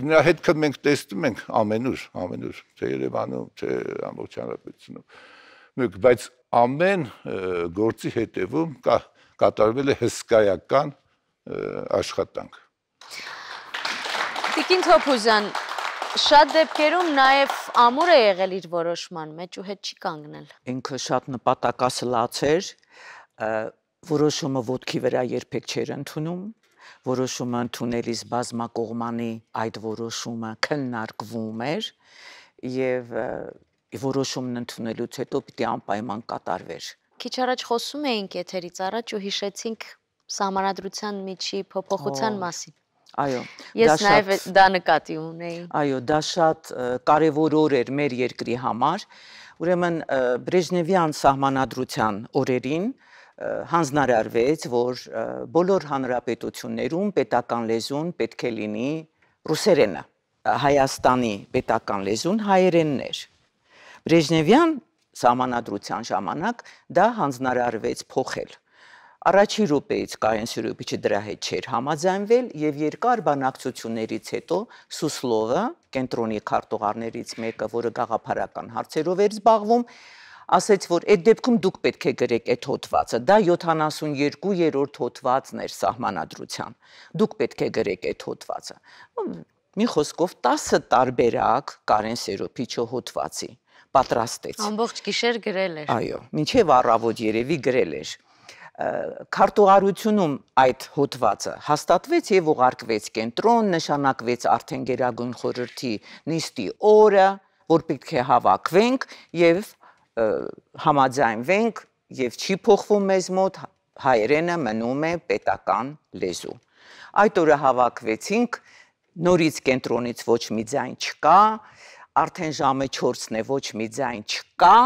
Նրա հետքը մենք տեսնում ենք ամենուր, թե Երևանում, թե ամբողջ հանրապետությունում։ Բայց ամեն գործի հետևում կատարվել է հսկայական աշխատանք։ Տիկին Թոփուզյան, շատ դեպքերում նաև ամուր է եղել իր որոշման մեջ ու հետ չի կանգնել։ Ինքը շատ նպատակասլաց էր, որոշումը ոտքի վրա երբեք չէր ընդունում, որոշումը ընդունելիս բազմակողմանի այդ որոշումը քննարկվում էր եւ որոշումն ընդունելուց հետո պիտի անպայման կատարվեր։ Քիչ առաջ խոսում էինք եթերից առաջ ու հիշեցինք սահմանադրության միջի փոփոխության մասին։ Այո, ես նաև դա նկատի ունեի։ Այո, դա շատ կարևոր օր էր մեր երկրի համար։ Ուրեմն Բրեժնևյան սահմանադրության օրերին հանձնարարվեց, որ բոլոր հանրապետություններում պետական լեզուն պետք է լինի ռուսերենը։ Հայաստանի պետական լեզուն հայերենն էր։ Բրեժնևյան սահմանադրության ժամանակ դա հանձնարարվեց փոխել։ Առաջի րոպեից Կարեն Սուրոպիչը դրա հետ չէր համաձայնվել եւ երկար բանակցություններից հետո Սուսլովը, կենտրոնի քարտուղարներից մեկը, որը գաղափարական հարցերով էր զբաղվում, ասաց, որ այդ դեպքում դուք պետք է գրեք այդ հոդվածը, դա 72-րդ հոդվածն էր սահմանադրության։ Դուք պետք է գրեք այդ հոդվածը։ Մի խոսքով 10 տարբերակ Կարեն Սուրոպիչը հոդվածի պատրաստեց։ Ամբողջ գիշեր գրել էր։ Այո, մինչև առավոտ երևի գրել էր։ Քարտուղարությունում այդ հոդվածը հաստատվեց եւ ուղարկվեց կենտրոն, նշանակվեց արդեն Գերագույն խորհրդի նիստի օրը, որ պետք է հավաքվենք եւ համաձայնվենք եւ չի փոխվում մեզ մոտ, հայերենը մնում է պետական լեզու։ Այդ օրը հավաքվեցինք, նորից կենտրոնից ոչ մի ձայն չկա, արդեն ժամը 4-ն է, ոչ մի ձայն չկա։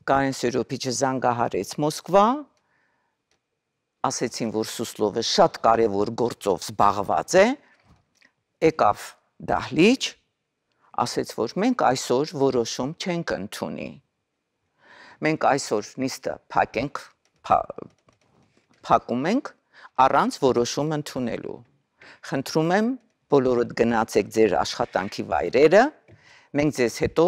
Կարեն Սուրոպիչը զանգահարեց Մոսկվա, ասեցին, որ Սուսլովը շատ կարևոր գործով զբաղված է, եկավ դահլիճ, ասեց, որ մենք այսօր որոշում չենք ընդունի։ Մենք այսօր նիստը փակում ենք առանց որոշում ընդունելու։ Խնդրում եմ, բոլորդ գնացեք ձեր աշխատանքի վայրերը, մենք ձեզ հետո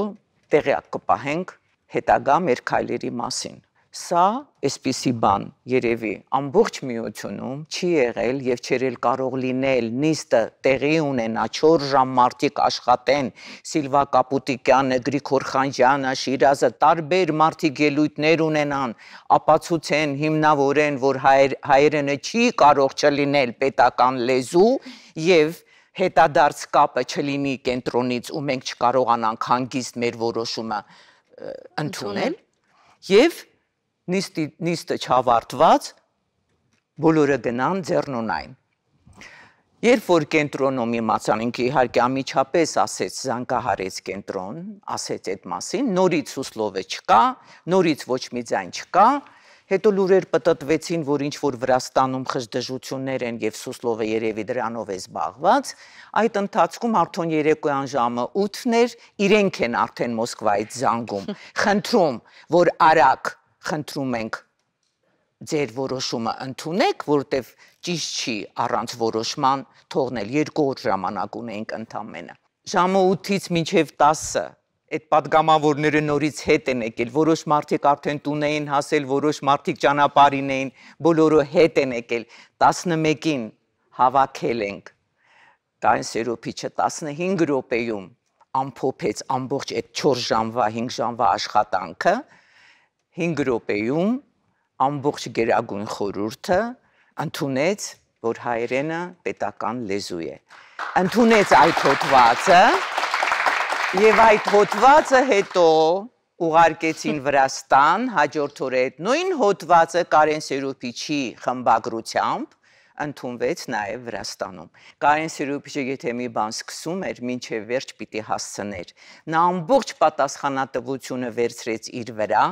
տեղյակ կպահենք հետագա մեր քայլերի մասին։ Սա այսպիսի բան երևի ամբողջ միությունում չի եղել եւ չերել կարող լինել նիստը տեղի ունենա 4 ժամ մարդիկ աշխատեն Սիլվա Կապուտիկյանը, Գրիգոր Խանջյանը, Շիրազը տարբեր մարդիկ ելույթներ ունենան ապացուցեն հիմնավորեն որ հայերենը չի կարող չլինել պետական լեզու եւ հետադարձ կապը չլինի կենտրոնից ու մենք չկարողանանք հանգիստ մեր որոշումը ընդունել եւ նիստը չավարտված բոլորը գնան ձեռնունայն։ Երբ որ կենտրոնում իմացան ինքը իհարկե ամիջապես ասեց զանգահարեց կենտրոն, ասեց այդ մասին, նորից Սուսլովը չկա, նորից ոչ մի ձայն չկա, հետո լուրեր պտտվեցին, որ ինչ որ Վրաստանում խժդժություններ են եւ Սուսլովը երևի դրանով է զբաղված, այդ ընթացքում արդեն երեկոյան ժամը 8-ն էր, իրենք են արդեն Մոսկվայից զանգում, խնդրում, որ արագ խնդրում ենք ձեր որոշումը ընդունեք, որտեվ ճիշտ չի առանց որոշման թողնել 2 օր ժամանակ ունենք ընդամենը։ Ժամը 8-ից մինչև 10-ը այդ պատգամավորները նորից հետ են եկել, որոշ մարդիկ արդեն տուն էին հասել, որոշ մարդիկ ճանապարհին էին, բոլորը հետ են եկել։ 11-ին հավաքել ենք Կարեն Սերոփիչը 15 րոպեում ամփոփեց ամբողջ այդ 4 ժամվա, 5 ժամվա աշխատանքը, 5 րոպեում ամբողջ գերագույն խորհուրդը ընդունեց, որ հայերենը պետական լեզու է։ Ընդունեց այդ հոդվածը եւ այդ հոդվածը հետո ուղարկեցին Վրաստան, հաջորդ օրը այդ նույն հոդվածը Կարեն Սերոփիչի խմբագրությամբ ընդունվեց նաև Վրաստանում։ Կարեն Սերոփիչը եթե մի բան սկսում էր, մինչև վերջ պիտի հասցներ։ Նա ամբողջ պատասխանատվությունը վերցրեց իր վրա,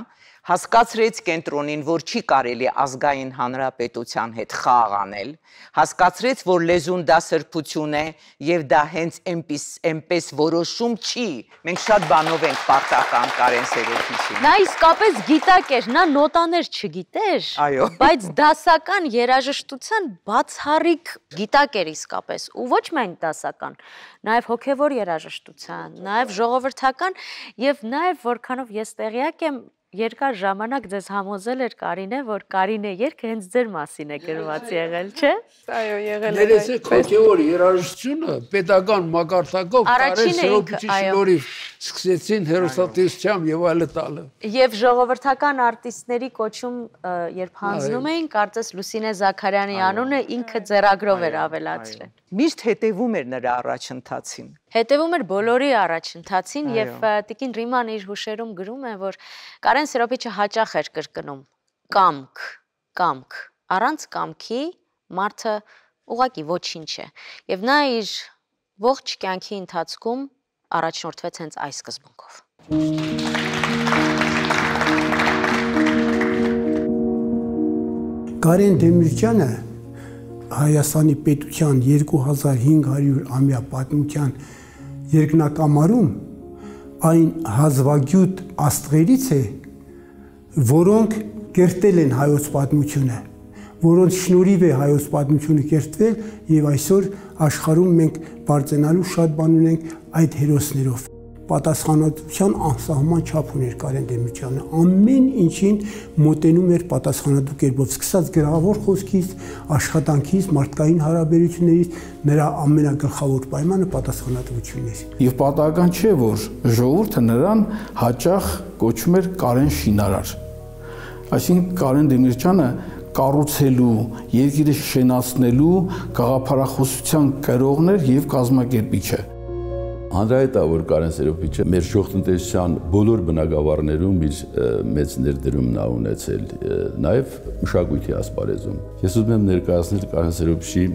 հասկացրեց կենտրոնին, որ չի կարելի ազգային հանրապետության հետ խաղ անել, հասկացրեց, որ լեզուն դա սրբություն է եւ դա հենց այնպես որոշում չի։ Մենք շատ բանով ենք պարտական Կարեն Սերոփիչին։ Նա իսկապես գիտակ էր, նա նոտաներ չգիտեր, բայց դասական երաժշտության բացառիկ գիտակ էր իսկապես, ու ոչ միայն դասական, նաեւ հոգեվոր երաժշտության, նաեւ ժողովրդական եւ նաեւ որքանով ես տեղյակ եմ երկար ժամանակ ձեզ համոզել էր Կարինե, որ Կարինե երգը հենց ձեր մասին է գրված եղել, չէ՞։ Այո, եղել է։ Ներեցեք հոգեվոր երաժշտությունը պետական մակարդակով Կարեն Սերոփիչի շնորհիվ սկսեցին հերոսատեսությամբ եւ այլը տալը։ Եվ ժողովրդական արտիստների կոչում երբ հանձնում էին, կարծես Լուսինե Զաքարյանի անունը ինքը ձեռագրով էր ավելացրել։ Միշտ հետևում էր նրա առաջընթացին։ Հետևում էր բոլորի առաջընթացին եւ տիկին Ռիման իր հուշերում գրում է, որ Կարեն Սերոփիչը հաճախ էր կրկնում կամք, առանց կամքի մարդը ուղղակի ոչինչ է։ Եվ նա իր ողջ կյանքի ընթացքում առաջնորդվեց հենց այս սկզբունքով։ Կարեն Դեմիրճյանը Հայաստանի պետության 2500-ամյա պատմության երկնակամարում այն հազվագյուտ աստղերից է, որոնք կերտել են հայոց պատմությունը, որոնց շնորհիվ է հայոց պատմությունը կերտվել եւ այսօր աշխարհում մենք բարձրանալու շատ բան ունենք այդ հերոսներով։ Պատասխանատվության անսահման չափ ուներ Կարեն Դեմիրճյանը, ամեն ինչին մոտենում էր պատասխանատու կերպով, սկսած գրավոր խոսքից, աշխատանքից, մարդկային հարաբերություններից, նրա ամենագլխավոր պայմանը պատասխանատվությունն էր։ Եվ պատահական չէ, որ ժողովուրդը նրան հաճախ կոչում էր Կարեն Շինարար։ Այսինքն Կարեն Դեմիրճյանը կառուցելու, երկիրը շենացնելու գաղափարախոսության կրողներ եւ կազմակերպիչը։ Հանրայինը, որ Կարեն Սերոփիչը մեր ժողովրդական բոլոր բնակավարներում իր մեծ ներդրումն ա ունեցել, նաև մշակույթի ասպարեզում։ Ես ուզում եմ ներկայացնել Կարեն Սերոփիչի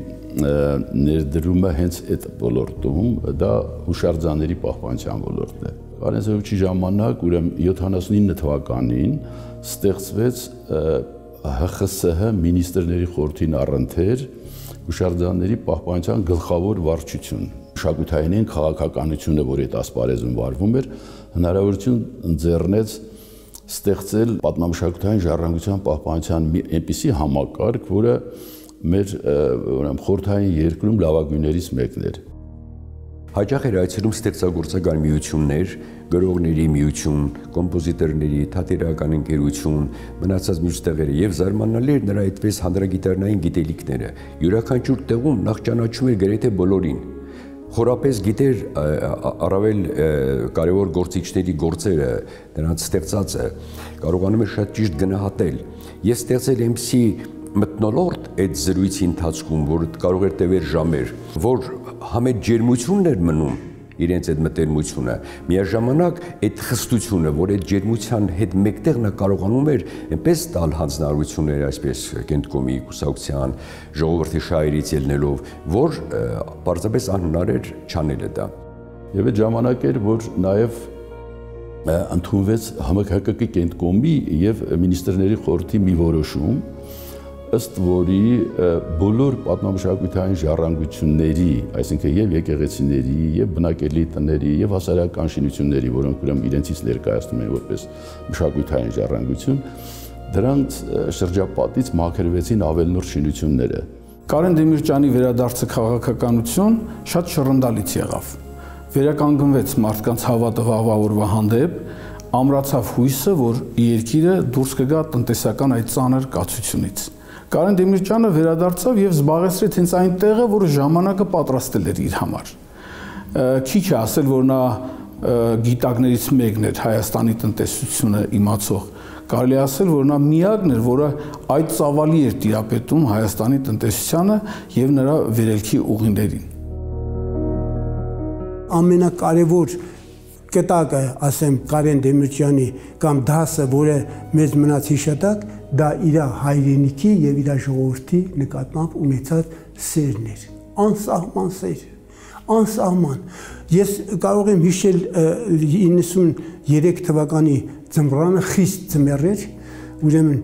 ներդրումը հենց այդ ոլորտում, դա հուշարձանների պահպանության ոլորտն է։ Կարեն Սերոփիչի ժամանակ, ուրեմն 79 թվականին ստեղծվեց ՀԽՍՀ մինիստրների խորհրդին առընթեր հուշարձանների պահպանության գլխավոր վարչություն։ Մշակութային քաղաքականությունը, որ այդ ասպարեզում վարվում էր, հնարավորություն ընձեռնեց ստեղծել պատմամշակութային ժառանգության պահպանության մի այնպիսի համակարգ, որը մեր խորհրդային երկրում լավագույններից մեկն էր։ Հաճախ էր այցելում ստեղծագործական միություններ, գրողների միություն, կոմպոզիտորների, թատերական ընկերություն, մնացած մյուս տեղերը եւ զարմանալի էր նրա այդպես հանրագիտարնային գիտելիքները։ Յուրաքանչյուր տեղում նախ ճանաչում էր գրեթե բոլորին։ Խորապես գիտեր առավել կարևոր գործիչների գործերը, նրանց ստեղծածը, կարողանում էր շատ ճիշտ գնահատել եւ ստեղծել այնպիսի մթնոլորտ այդ զրույցի ընթացքում, որ կարող էր տևեր ժամեր, որ համետ ջերմությունն էր մնում իրենց այդ մտերմությունը, միաժամանակ այդ խստությունը, որ այդ ջերմության հետ մեկտեղ նա կարողանում էր այնպես տալ հանձնարարություններ, այսպես Կենտկոմի կուսակցության ժողովրդի շահերից ելնելով, որ պարզապես անհնար էր չանելը դա։ Եվ այդ ժամանակ էր, որ նաև ընդունվեց ՀՄՔԿ-ի Կենտկոմի եւ Մինիստրների խորհրդի մի որոշում, ըստ որի բոլոր պատմամշակութային ժառանգությունների, այսինքն եւ եկեղեցիների, եւ բնակելի տների, եւ հասարակական շինությունների, որոնք ուրեմն իրենցից ներկայացնում են որպես մշակութային ժառանգություն, դրանց շրջապատից մաքրվեցին ավելնորդ շինությունները։ Կարեն Դեմիրճյանի վերադարձը քաղաքականություն շատ շռնդալից եղավ։ Վերականգնվեց մարդկանց հավատը վաղվա օրվա հանդեպ, ամրացավ հույսը, որ երկիրը դուրս կգա տնտեսական այդ ծանր կացությունից։ Կարեն Դեմիրճյանը վերադարձավ եւ զբաղեցրեց հենց այն տեղը, որը ժամանակը պատրաստել էր իր համար։ Քիչ է ասել, որ նա գիտակներից մեկն էր Հայաստանի տնտեսությունը իմացող։ Կարելի ասել, որ նա միակն էր, որը այդ ծավալի էր տիրապետում Հայաստանի տնտեսությանը եւ նրա վերելքի ուղիներին։ Ամենակարևոր կտակը, ասեմ, Կարեն Դեմիրճյանի կամ դասը, որը մեզ մնաց հիշատակ, դա իր հայրենիքի եւ իր ժողովրդի նկատմամբ ունեցած սերն էր, անսահման սեր, անսահման։ Ես կարող եմ հիշել 93 թվականի ձմռանը խիստ ձմեռ էր, ուրեմն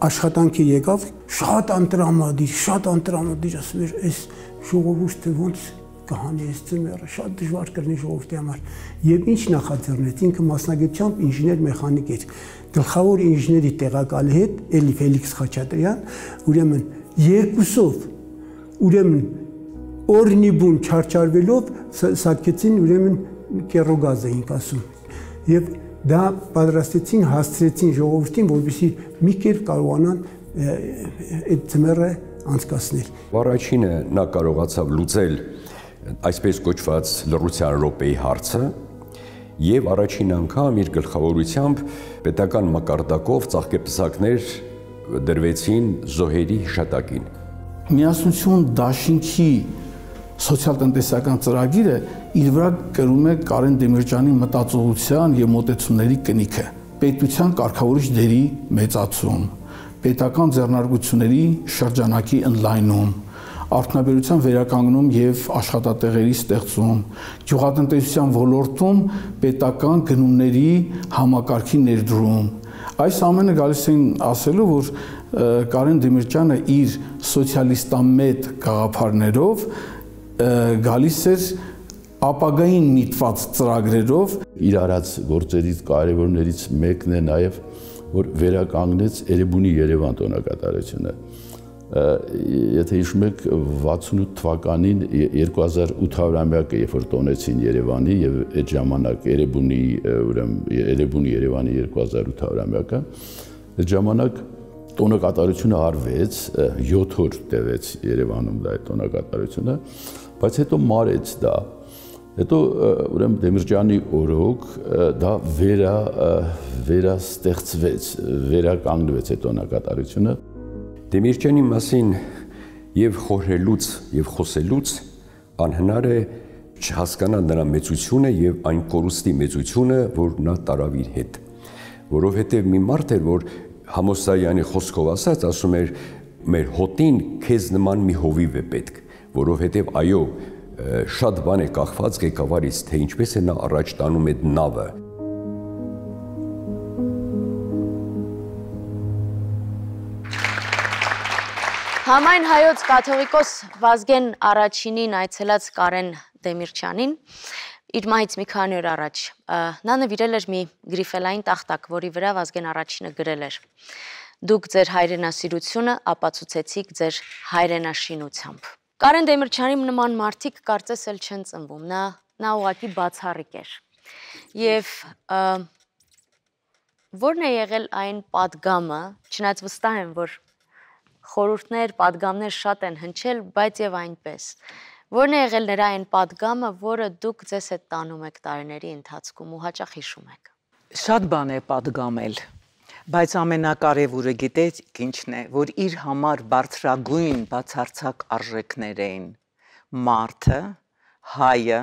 աշխատանքի եկավ, շատ անտրամադիր, ասում էր, այս ժողովուրդը ոնց կհանի այս ձմեռը, շատ դժվար կլինի ժողովրդի համար։ Եվ ինչ նախաձեռնեց, ինքը մասնագիտությամբ ինժեներ մեխանիկ էր, գլխավոր ինժեների տեղակալի հետ, էլի Ֆելիքս Խաչատրյան, ուրեմն երկուսով, ուրեմն օրնիբուն չարչարվելով սարքեցին, ուրեմն կեռոգազ էինք ասում։ Եվ դա պատրաստեցին, հասցրեցին ժողովրդին, որպեսզի մի կերպ կարողանան այդ ձմեռը անցկացնել։ Առաջինը նա կարողացավ լուծել այսպես կոչված լռության րոպեի հարցը եւ առաջին անգամ իր գլխավորությամբ պետական մակարդակով ծաղկեպսակներ դրվեցին զոհերի հիշատակին։ Միասնություն դաշինքի սոցիալ-տնտեսական ծրագիրը իր վրա կրում է Կարեն Դեմիրճյանի մտածողության եւ մոտեցումների կնիքը, պետության կարգավորիչ դերի մեծացում, պետական ձեռնարկությունների շրջանակի ընդլայնում, արդյունաբերության վերականգնում եւ աշխատատեղերի ստեղծում, գյուղատնտեսության ոլորտում պետական գնումների համակարգի ներդրում։ Այս ամենը գալիս են ասելու, որ Կարեն Դեմիրճյանը իր սոցիալիստամետ գաղափարներով գալիս էր ապագային միտված ծրագրերով։ Իր արած գործերից կարևորներից մեկն է նաեւ, որ վերականգնեց Էրեբունի Երևան տոնակատարությունը։ Եթե հիշում եք 68 թվականին 2800-ամյակը երբ որ տոնեցին Երևանի եւ այդ ժամանակ Էրեբունի Երևանի 2800-ամյակը, այդ ժամանակ տոնակատարությունը արվեց, 7 օր տևեց Երևանում դա այդ տոնակատարությունը, բայց հետո մարեց դա։ Հետո ուրեմն Դեմիրճյանի օրոք դա վերաստեղծվեց, վերականգնվեց այդ տոնակատարությունը։ Դեմիրճյանի մասին եւ խորհելուց եւ խոսելուց անհնար է չհասկանալ նրա մեծությունը եւ այն կորուստի մեծությունը, որ նա տարավ իր հետ, որովհետեւ մի մարդ էր, որ Համոսայանի խոսքով ասած ասում էր մեր հոտին քեզ նման մի հովիվ է պետք, որովհետեւ այո շատ բան է կախված ղեկավարից, թե ինչպես է նա առաջ տանում այդ նավը։ Համայն հայոց կաթողիկոս Վազգեն Առաջինին այցելած Կարեն Դեմիրճյանին իր մահից մի քանի օր առաջ նա նվիրել էր մի գրիֆելային տախտակ, որի վրա Վազգեն Առաջինը գրել էր. Դուք ձեր հայրենասիրությունը ապացուցեցիք ձեր հայրենաշինությամբ։ Կարեն Դեմիրճյանի նման մարդիկ կարծես էլ չեն ծնվում, նա ուղղակի բացառիկ էր։ Եվ որն է եղել այն պատգամը, չնայած վստահ եմ, որ խորհուրդներ, պատգամներ շատ են հնչել, բայց եւ այնպես։ Որն է եղել նրա այն պատգամը, որը դուք ձեզ հետ տանում եք տարիների ընթացքում ու հաճախ հիշում եք։ Շատ բան է պատգամել, բայց ամենակարևորը գիտեք ինչն է, որ իր համար բարձրագույն բացարձակ արժեքներ էին մարդը, հայը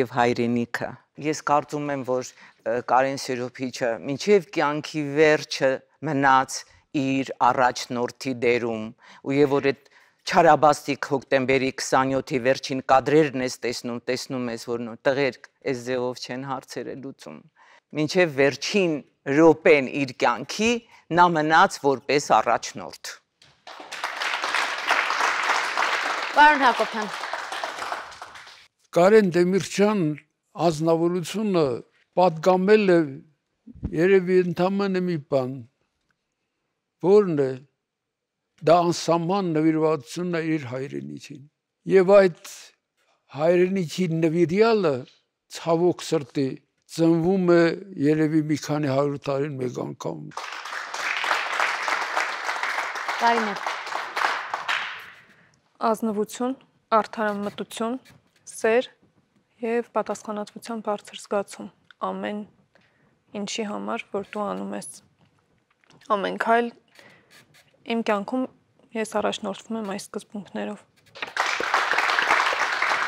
եւ հայրենիքը։ Ես կարծում եմ, որ Կարեն Սերոբիչը մինչև կյանքի վերջը մնաց իր առաջնորդի դերում ու որ այդ չարաբաստիկ հոկտեմբերի 27-ի վերջին կադրերն ես տեսնում ես, որ տղերք այս ձևով չեն հարցերը լուծում։ Մինչև վերջին րոպեն իր կյանքի նա մնաց որպես առաջնորդ։ Պարոն Հակոբյան։ Կարեն Դեմիրճյան ազնվորությունը պատգամել է երևի ընդամենը մի բան, որն է դա անսահման նվիրվածությունն է իր հայրենիքին։ Եվ այդ հայրենիքի նվիրյալը ցավոք սրտի ծնվում է երևի մի քանի 100 տարին մեկ անգամ։ Կարինե։ Ազնվություն, արդարամտություն, սեր եւ պատասխանատվության բարձր զգացում ամեն ինչի համար, որ դու անում ես։ Ամեն քայլ իմ կյանքում ես առաջնորդվում եմ այս սկզբունքներով։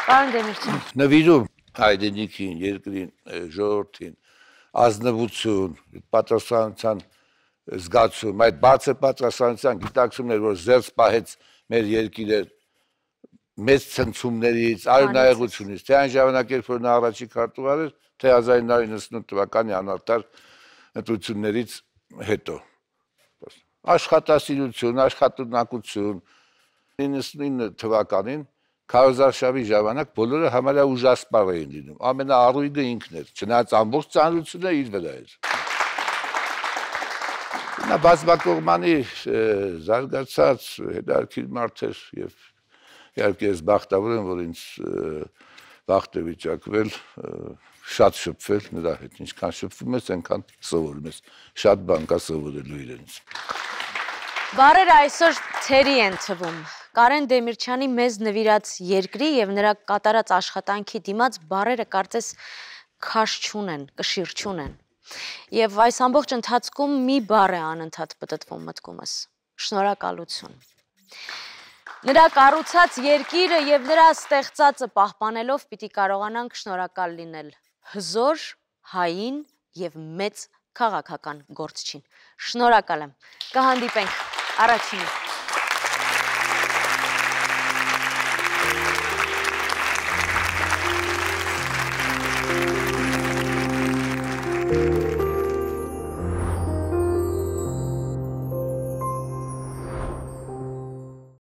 Պարոն Դեմիրճյան։ Նվիրում հայրենիքին, երկրին, ժողովրդին, ազնվություն, պատասխանատվության զգացում, այդ բարձր պատասխանատվության գիտակցումներ, որ զերծ պահեց մեր երկիրը մեծ ցնցումներից, արյունահեղությունից, թե այն ժամանակ, երբ որ նա առաջի քարտուղար էր, թե 1998 թվականի անարդար ընտրություններից հետո։ Աշխատասիրություն, աշխատունակություն, 99 թվականին քարոզարշավի ժամանակ բոլորը համարյա ուժասպառ էին լինում, ամենաառույգը ինքն էր, չնայած ամբողջ ծանրությունը իր վրա էր։ Նա բազմակողմանի զարգացած հետաքրքիր մարդ էր եւ իհարկե ես բախտավոր եմ, որ ինձ բախտ է վիճակվել շատ շփվել նրա հետ, ինչքան շփվում ես, այնքան սովորում ես, շատ բան կա սովորելու իրենից։ Բարերը այսօր թերի են թվում։ Կարեն Դեմիրճյանի մեզ նվիրած երկրի եւ նրա կատարած աշխատանքի դիմաց բարերը կարծես քաշ չունեն, կշիռ չունեն։ Եվ այս ամբողջ ընթացքում մի բառ է անընդհատ պտտվում մտքումս՝ շնորհակալություն։ Նրա կառուցած երկիրը եւ նրա ստեղծածը պահպանելով պիտի կարողանանք շնորհակալ լինել հզոր, հային եւ մեծ քաղաքական գործչին։ Շնորհակալ եմ։ Կհանդիպենք առաջինը։